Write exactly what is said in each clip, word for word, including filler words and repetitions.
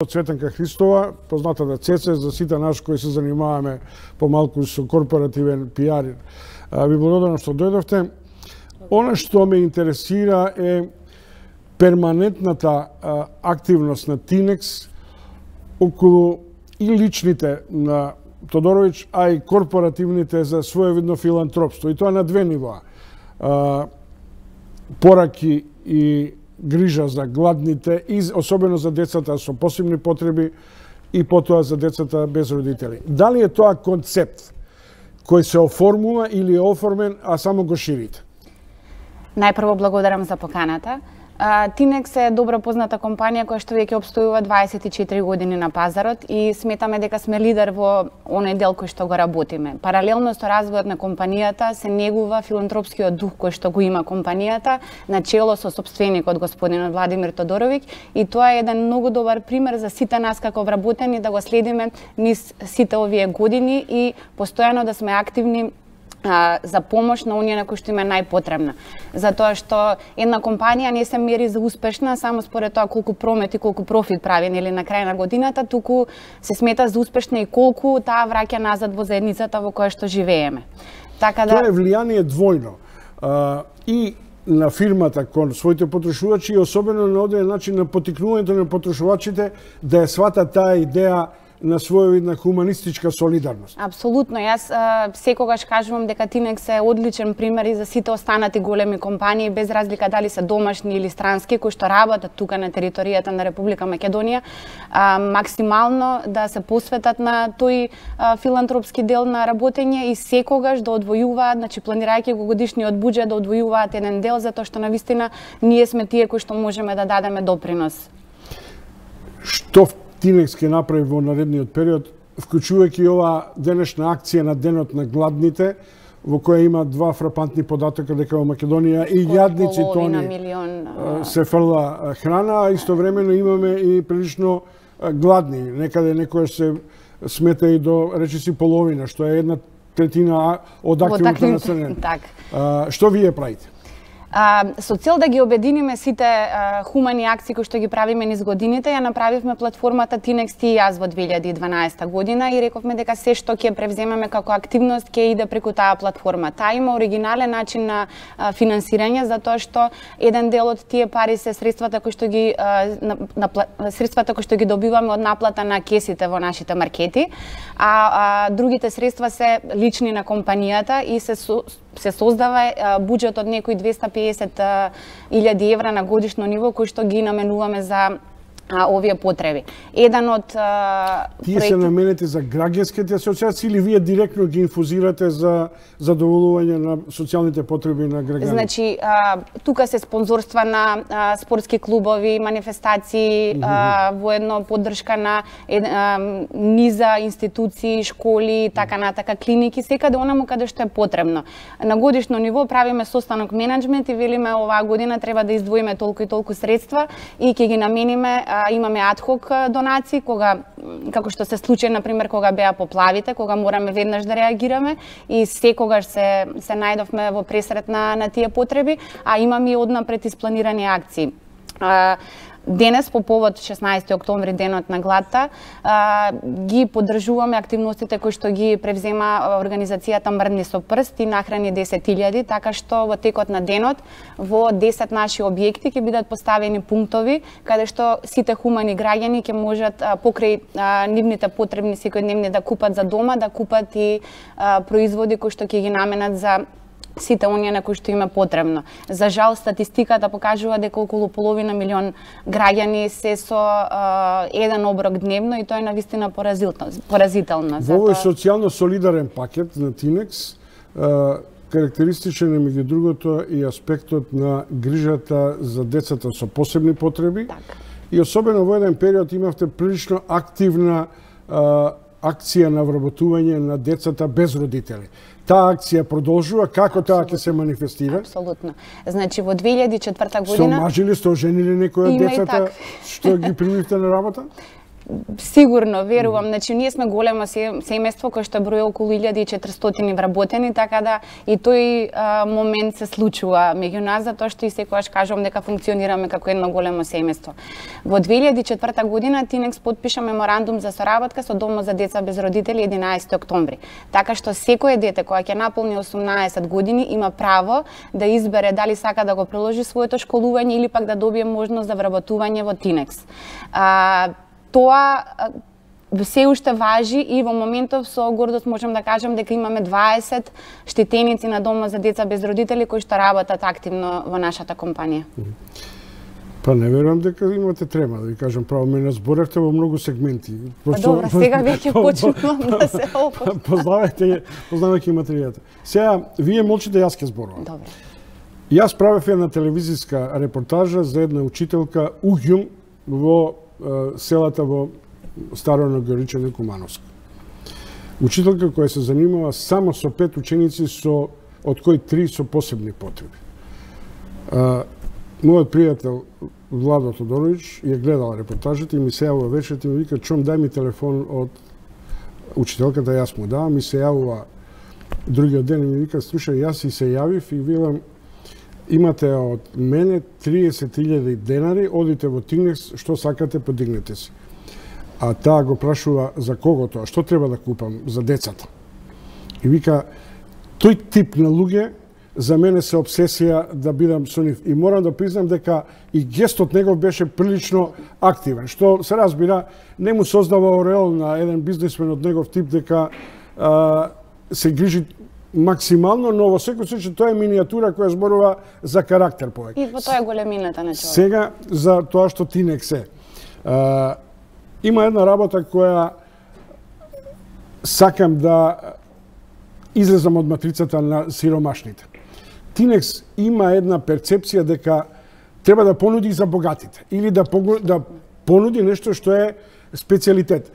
Цветанка Христова, познатата Цеце, за сите нас кои се занимаваме помалку со корпоративен пиар. Ви благодарам што дојдовте. Она што ме интересира е перманентната а, активност на Тинекс околу и личните на Тодоровиќ, а и корпоративните за своевидно филантропство. И тоа на две нивоа. А, пораки и грижа за гладните и особено за децата со посебни потреби и потоа за децата без родители. Дали е тоа концепт кој се оформува или е оформен, а само го ширите? Најпрво благодарам за поканата. Тинекс е добро позната компанија која што веќе обстојува дваесет и четири години на пазарот и сметаме дека сме лидер во оној дел кој што го работиме. Паралелно со развојот на компанијата се негува филантропскиот дух кој што го има компанијата, начело со сопственикот господинот Владимир Тодоровиќ, и тоа е еден многу добар пример за сите нас како вработени да го следиме низ сите овие години и постојано да сме активни за помош на оние на кои што им е најпотребна. Затоа што една компанија не се мери за успешна само според тоа колку промет и колку профит прави нели на крај на годината, туку се смета за успешна и колку таа враќа назад во заедницата во која што живееме. Така да тоа е влијание двојно. А, и на фирмата кон своите потрошувачи и особено на одреден начин на поттикнувањето на потрошувачите да ја сватат таа идеја на своевидна хуманистичка солидарност. Апсолутно. Јас а, секогаш кажувам дека Тинекс е одличен пример и за сите останати големи компании, без разлика дали се домашни или странски, кои што работат тука на територијата на Република Македонија, а, максимално да се посветат на тој а, филантропски дел на работење и секогаш да одвојуваат, значи планирајќи го годишниот буџет, да одвојуваат еден дел, затоа што навистина ние сме тие кои што можеме да дадеме допринос. Што Тинекс ќе направи во наредниот период, вклучувајќи ова денешна акција на Денот на гладните, во која има два фрапантни податока дека во Македонија и јадници тони милион, се фрла храна, а истовремено имаме и прилично гладни. Некаде некоја се смета и до речиси половина, што е една третина од активното население. Так. Што вие правите? А, со цел да ги обединиме сите а, хумани акции кои што ги правиме низ годините, ја направивме платформата Тинекс ти и јас во две илјади и дванаесета година и рековме дека се што ќе превземеме како активност ќе иде преку таа платформа. Таа има оригинален начин на а, финансирање, затоа што еден дел од тие пари се средствата кои што ги а, на, на, средствата кои што ги добиваме од наплата на кесите во нашите маркети, а, а другите средства се лични на компанијата и се со, се создава буџет од некои двеста и педесет илјади евра на годишно ниво кои што ги наменуваме за а, овие потреби. Еден од а, Тие проекти... се наменети за граѓанските асоциации или вие директно ги инфузирате за задоволување на социјалните потреби на граѓаните? Значи, а, тука се спонзорства на а, спортски клубови, манифестации, mm-hmm. а, воедно поддршка на е, а, низа институции, школи, така натака, клиники, секаде онаму каде што е потребно. На годишно ниво правиме состанок менеджмент и велиме оваа година треба да издвоиме толку и толку средства и ќе ги намениме. Имаме адхок донации, кога, како што се случи, например, кога беа поплавите, кога мораме веднаш да реагираме и секогаш се, се најдовме во пресрет на, на тие потреби, а имаме и однапред испланирани акции. Денес, по повод шеснаесети октомври, денот на гладта, ги поддржуваме активностите кои што ги превзема организацијата Мрдни со прст и нахрани десет илјади, така што во текот на денот во десет наши објекти ќе бидат поставени пунктови каде што сите хумани граѓани ќе можат покрај нивните потребни секојдневни да купат за дома, да купат и производи кои што ќе ги наменат за сите оние на кои што има потребно. За жал, статистиката покажува дека околу половина милион граѓани се со а, еден оброк дневно и тоа е навистина поразително. Во овој социјално солидарен пакет на Тинекс, а, карактеристичен е меѓу другото и аспектот на грижата за децата со посебни потреби. Так. И особено во еден период имавте прилично активна а, акција на вработување на децата без родители. Таа акција продолжува, како таа ќе се манифестира? Апсолутно. Значи во две илјади и четврта година Сте омажили, сте оженили некој од децата што ги примивте на работа? Сигурно, верувам. Значи, ние сме големо семејство кој што брои околу илјада и четиристотини вработени, така да и тој а, момент се случува меѓу нас, затоа што и секогаш кажувам дека функционираме како едно големо семејство. Во две илјади и четврта година Тинекс потпиша меморандум за соработка со Домот за деца без родители единаесети октомври. Така што секое дете кое ќе наполни осумнаесет години има право да избере дали сака да го продолжи своето школување или пак да добие можност за вработување во Тинекс. А, тоа се уште важи и во моментов со гордост можам да кажам дека имаме дваесет штетеници на Домот за деца без родители кои што работат активно во нашата компанија. Па не верувам дека имате трема, да ви кажам право, ме разборевте во многу сегменти. Па добро, сега веќе почнувам да се опоштам. Познавајте, познавајќи материјата. Сега, вие молчите, јас ќе зборувам. Добро. Јас правев една телевизиска репортажа за една учителка Уѓум во е, селата во Старо Нагоричане, Кумановско. Учителка која се занимава само со пет ученици, со, од кои три со посебни потреби. А, мојот пријател Владо Тодорович ја гледал репортажата и ми се јавува вечерта и ми вика: "Чом, дај ми телефон од учителката", јас му давам, ми се јавува другиот ден и ми вика: "Слушај, јас и се јавив и велам, имате од мене триесет илјади денари, одите во Тинекс, што сакате, подигнете се." А таа го прашува за кого тоа, што треба да купам за децата. И вика: "Тој тип на луѓе за мене се обсесија да бидам со нив." И морам да признам дека и гестот негов беше прилично активен, што се разбира, не му создава ореол на еден бизнисмен од негов тип дека а, се грижи максимално, но во секој случај тоа е минијатура која зборува за карактер повеќе. И во тоа е големината на човек. Сега за тоа што Тинекс е. А, има една работа која сакам да излезам од матрицата на сиромашните. Тинекс има една перцепција дека треба да понуди за богатите или да, да понуди нешто што е специјалитет.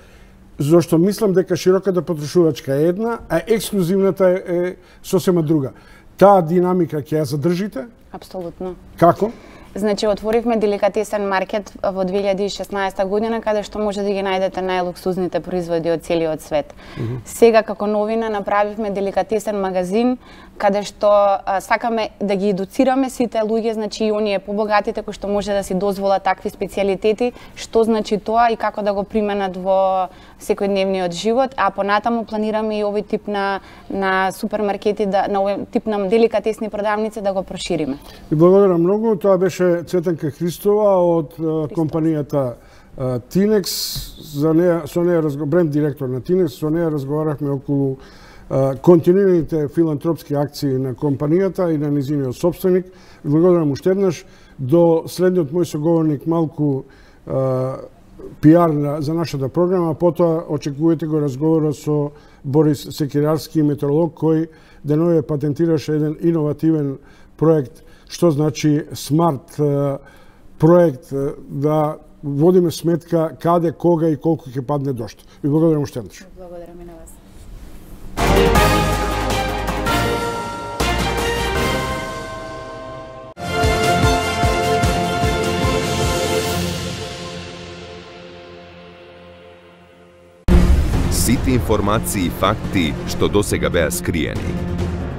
Зошто мислам дека широката потрошувачка е една, а ексклузивната е, е сосема друга. Таа динамика ќе ја задржите? Апсолутно. Како? Значи, отворивме деликатесен маркет во две илјади и шеснаесета година, каде што може да ги најдете најлуксузните производи од целиот свет. Mm -hmm. Сега, како новина, направивме деликатесен магазин, каде што а, сакаме да ги едуцираме сите луѓе, значи и оние побогатите кои што може да си дозволат такви специјалитети, што значи тоа и како да го применат во секојдневниот живот, а понатаму планираме и овој тип на, на супермаркети, да, на овој тип на деликатесни продавници да го прошириме. И благодарам многу, тоа беше Цветанка Христова од Христос. компанијата Тинекс, за неја, со неја бренд директор на Тинекс, со неја разговарахме околу континуираните филантропски акции на компанијата и на низиниот собственик. Благодарам уште еднаш. До следниот мој соговорник малку пиар за нашата програма, потоа очекувате го разговорот со Борис Секирарски, метеоролог, кој денове патентираше еден иновативен проект, што значи смарт проект, да водиме сметка каде, кога и колку ќе падне дожд. Ви благодарам уште еднаш. Благодарам и на вас. Сите информации и факти што досега беа скриени,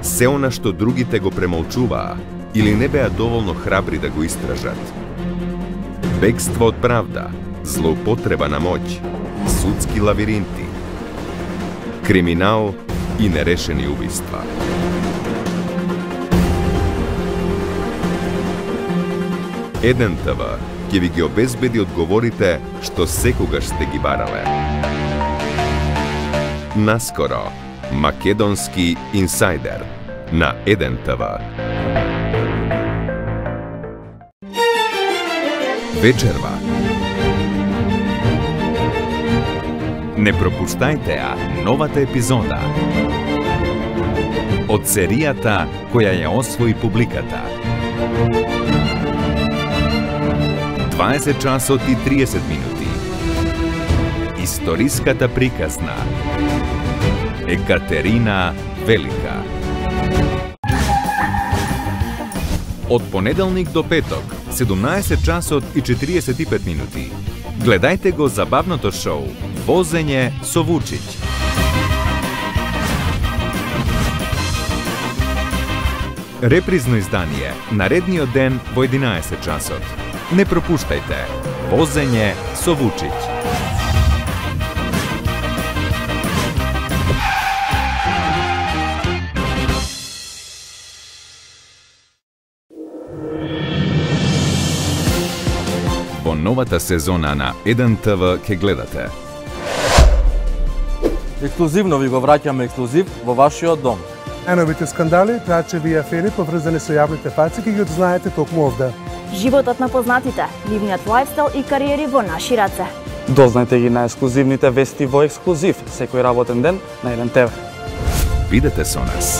се она што другите го премолчуваа или не беа доволно храбри да го истражат. Бегство од правда, злоупотреба на моќ, судски лавиринти, криминал и нерешени убиства. еден те ве ќе ви ги обезбеди одговорите што секогаш сте ги барале. Наскоро, Македонски инсайдер на еден те ве. Вечерва. Не пропуштајте ја новата епизода од серијата која ја освои публиката. дваесет часот и триесет минути. Историската приказна Екатерина Велика. Од понеделник до петок, седумнаесет часот и четириесет и пет минути. Гледајте го забавното шоу Возење со Вучиќ. Репризно издание наредниот ден во единаесет часот. Не пропуштајте Возење со Вучиќ. Во новата сезона на еден те ве ке гледате. Ексклузивно ви го враќаме ексклузив во вашиот дом. Најновите скандали, трачеви и афери поврзани со јавните фаци ќе ги одзнаете токму овде. Животот на познатите, нивниот лајфстайл и кариери во наши раце. Дознајте ги најексклузивните вести во ексклузив секој работен ден на еден те ве. Бидете со нас.